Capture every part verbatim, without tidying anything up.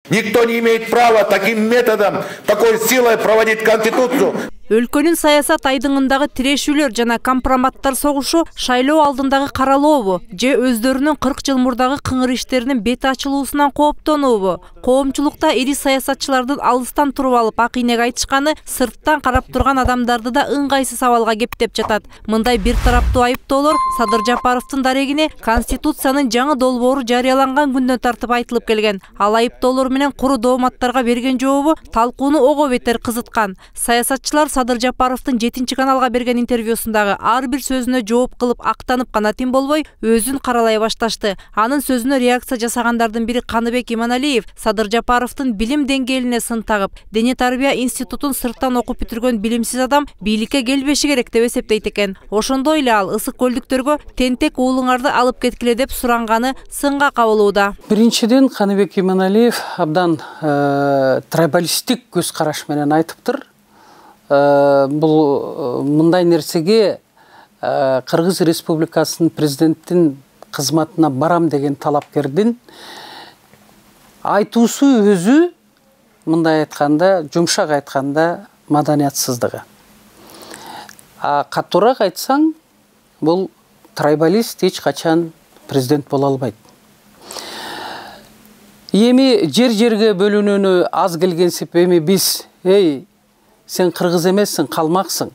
Никто не имеет права таким методом, такой силой проводить Конституцию. Өлкөнүн саясат айдыңындагы тирешүүлөр жана компроматтар согушу шайлоо алдындагы каралообу же өздөрүнүн кырк жыл мурдагы кыңыр иштеринин бети ачылуусунан кооптонуубу? Коомчулукта ири саясатчылардын алыстан туруп алып ак ийнек айтышканы сырттан карап турган адамдарды да ыңгайсыз сабалга кептеп жатат. Мындай бир тараптуу айыптоолор Садыр Жапаровдун дарегине Конституциянын жаңы долбоору жарыяланган күндөн тартып айтылып келген. Ал айыптоолор менен куру дооматтарга берген жообу талкууну ого бетер кызыткан. Саясатчылар Садыр Жапаровдун жетинчи каналга берген интервьюсундагы ар бир сөзүнө жооп кылып актанып гана тим болбой, өзүн каралай башташты. Анын сөзүнө реакция жасагандардын бири Каныбек Иманалиев Садыр Жапаровдун билим деңгээлине сын тагып, дене тарбия институтун сырттан окуп бүтүргөн билимсиз адам бийликке келбеши керек деп эсептейт экен. Ошондой эле ал ысык көлдүктөргө тентек уулуңарды алып кеткиле деп суранганы сынга кабылууда. Биринчиден Каныбек Иманалиев абдан трибалистик көз караш менен айтыптыр. Бул мындай нерсеге Кыргыз Республикасынын президенттин кызматына барам деген талапкердин айтуусу өзү мындай айтканда, жумшак айтканда маданиятсыздыгы. А катуураак айтсаң, бул трибалист эч качан президент боло албайт. Эми жер-жерге бөлүнүүнү аз келгенсип эми биз, эй, сен кыргыз эмессиң, калмаксың,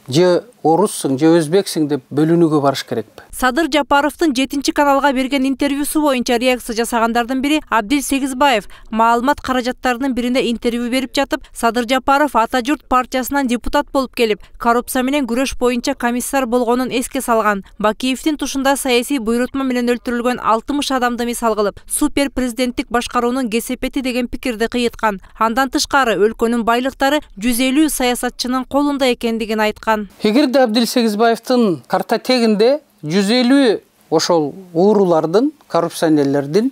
же оруссуң, же өзбексиң деп бөлүнүүгө барыш керекпи? Садыр Жапаровдун жетинчи каналга берген интервьюсу боюнча реакция жасагандардын бири Абдил Сегизбаев маалымат каражаттарынын бирине интервью берип жатып, Садыр Жапаров Ата журт партиясынан депутат болуп келип, коррупция менен күрөш боюнча комиссар болгонун эске салган. Бакиевдин тушунда саясий буйрутма менен өлтүрүлгөн алтымыш адамды мисал кылып, супер президенттик башкаруунун кесепети деген пикирди кыйыткан. Андан тышкары өлкөнүн байлыктары жүз элүү саясатчынын колунда экендигин айткан. Эгерде Абдил Сегизбаевдин картотегинде жүз элүү ошол уурулардын, коррупционерлердин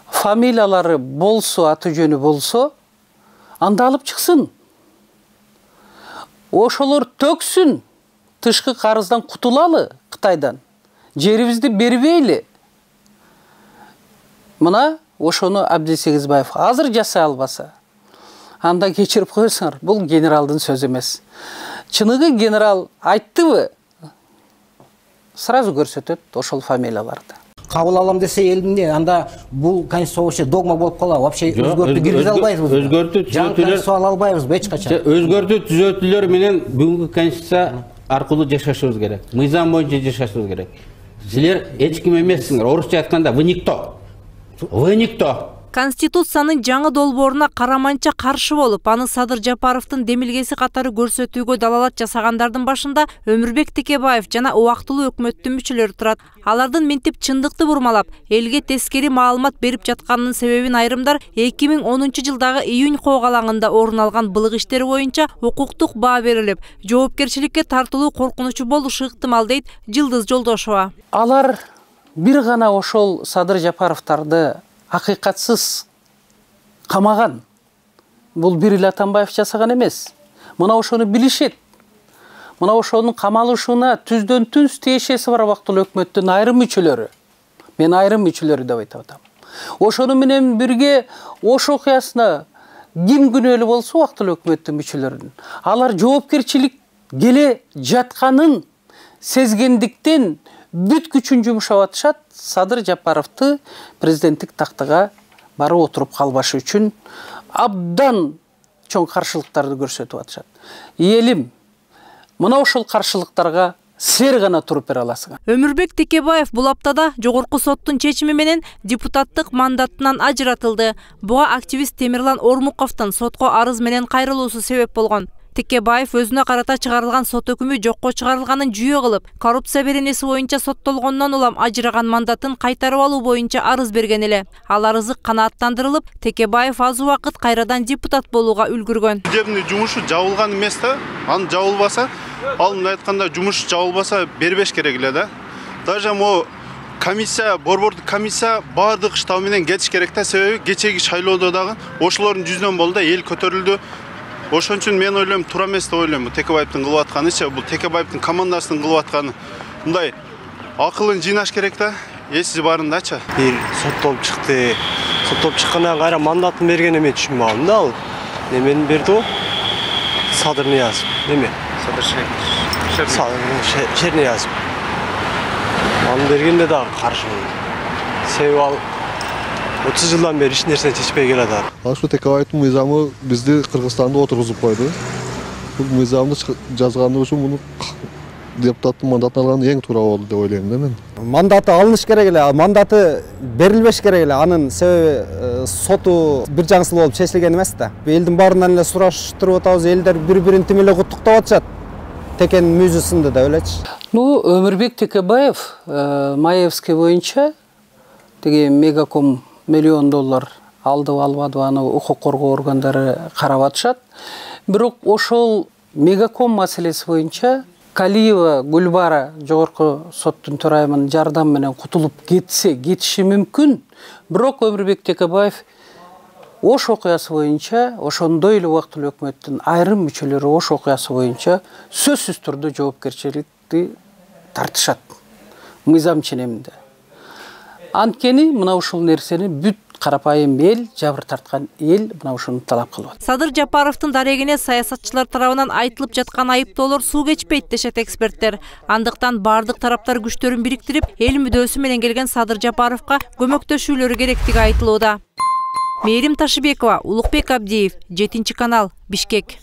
фамилиялары болсо, аты жөнү болсо, анда алып чыксын. Ошолор төксүн, тышкы карыздан кутулалы Кытайдан. Жерибизди бербейли. Мына ошону Абдил Сегизбаев азыр жасай албаса, анда кечирип коесуңар, бул генералдын сөзү эмес. Чыныгы генерал айттыбы? Сразу көрсөтөт ошол фамилияларды. Кабыл алам десе элдин, анда бул конституция догма болуп калат. Вообще өзгөртүп киргизе албайбыз. Өзгөртүп түзөтүүлөр ала албайбыз эч качан. Өзгөртүп түзөтүүлөр менен бүгүнкү конституция аркылуу жашашыбыз керек. Мыйзам боюнча жашашыбыз керек. Силер эч ким эмессиңер. Орусча айтканда вы никто. Вы никто. Конституциянын жаңы долбооруна караманча каршы болуп, аны Садыр Жапаровдун демилгеси катары көрсөтүүгө далалат жасагандардын башында Өмүрбек Текебаев жана убактылуу өкмөттүн мүчөлөрү турат. Алардын минтип чындыкты бурмалап, элге тескери маалымат берип жатканынын себебин айрымдар эки миң онунчу жылдагы июнь коогалаңында орун алган былык иштери боюнча укуктук баа берилип, жоопкерчиликке тартылуу коркунучу болушу ыктымал дейт Жылдыз Жолдошова. Алар бир гана ошол Садыр Жапаровдарды акыйкатсыз камаган. Бул бир эле Атамбаев жасаган эмес. Мына ошону билишет. Мына ошонун камалышына түздөн түз тиешеси бар убактылуу өкмөттүн айрым мүчөлөрү. Мен айрым мүчөлөрү деп айтып атам. Ошону менен бирге ош окуясына ким күнөөлүү болсо убактылуу өкмөттүн мүчөлөрүнүн, алар жоопкерчилик келе жатканын сезгендиктен бүт күчүн жумшап атышат. Садыр Жапаровду президенттик тактыга барып отуруп калбашы үчүн абдан чоң каршылыктарды көрсөтүп атышат. Элим, мына ошол каршылыктарга силер гана туруп бере аласыңар. Өмүрбек Текебаев бул аптада жогорку соттун чечими менен депутаттык мандатынан ажыратылды. Буга активист Темирлан Ормуковдун сотко арыз менен кайрылуусу себеп болгон. Текебаев өзүнө карата чыгарылган сот өкүмү жокко чыгарылганын жүйө кылып, коррупция беренеси боюнча соттолгондон улам ажыраган мандатын кайтарып алуу боюнча арыз берген эле. Ал арызы канааттандырылып, Текебаев аз убакыт кайрадан депутат болууга үлгүргөн. Судебный жумушу жабылган эмес да, аны жабылбаса, ал мындай айтканда жумуш жабылбаса бербеш керек эле да. Даже мо комиссия, борбордук комиссия баардык штаб менен кетиш керек да, себеби кечеги шайлоодо дагы ошолордун жүзүнөн болду да, эл көтөрүлдү. Ошон үчүн мен ойлойм, туура эмес деп ойлойм. Бул Текебаевдин кылып атканычы, бул Текебаевдин командасынын кылып атканы. Мындай акылын жыйнаш керек да, эсиз барындачы. Бир соттолуп чыкты. соттоп чыккандан кайра мандатын бергени мен түшүнбөй калдым да. Ал немени берди го. Садыр Ниязов. Неме? Садыр Шерниязов. Аны бергенде дагы каршымын. Себеби ал отуз жылдан бери эч нерсени чечпей келатат. Ашу Текебаевдин мыйзамы бизди Кыргызстанда отургузуп койду. Бул мыйзамды жазганы үчүн муну депутаттын мандатын алган эң туура болду деп ойлойм да мен. Мандаты алыныш керек эле, мандаты берилбеш керек эле. Анын себеби соту бир жаңсыл болуп чечилген эмес да. Элдин баарынан эле сураштырып атабыз, элдер бири-бирин тим эле куттуктап атышат. Текен мүйзү сынды деп элечи. Ну, Өмүрбек Текебаев Маевский боюнча теге Мегаком миллион доллар алдыбы албадыбы аны укук коргоо органдары карап атышат. Бирок ошол Мегаком маселеси боюнча Калиева Гүлбара жогорку соттун төрайымынын жардамы менен кутулуп кетсе, кетиши мүмкүн. Бирок Өмүрбек Текебаев Ош окуясы боюнча, ошондой эле убактылуу өкмөттүн айрым мүчөлөрү Ош окуясы боюнча сөзсүз түрдө жоопкерчиликти тартышат. Мыйзам ченеминде. Анткени мына ушул нерсени бүт карапайым эл, жабыр тарткан эл мына ушуну талап кылып атат. Садыр Жапаровдун дарегине саясатчылар тарабынан айтылып жаткан айыптоолор суу кечпейт дешет эксперттер. Андыктан бардык тараптар күчтөрүн бириктирип, эл мүдөөсү менен келген Садыр Жапаровго көмөктөшүүлөрү керектиги айтылууда. Мээрим Ташыбекова, Улукбек Абдиев, жетинчи канал, Бишкек.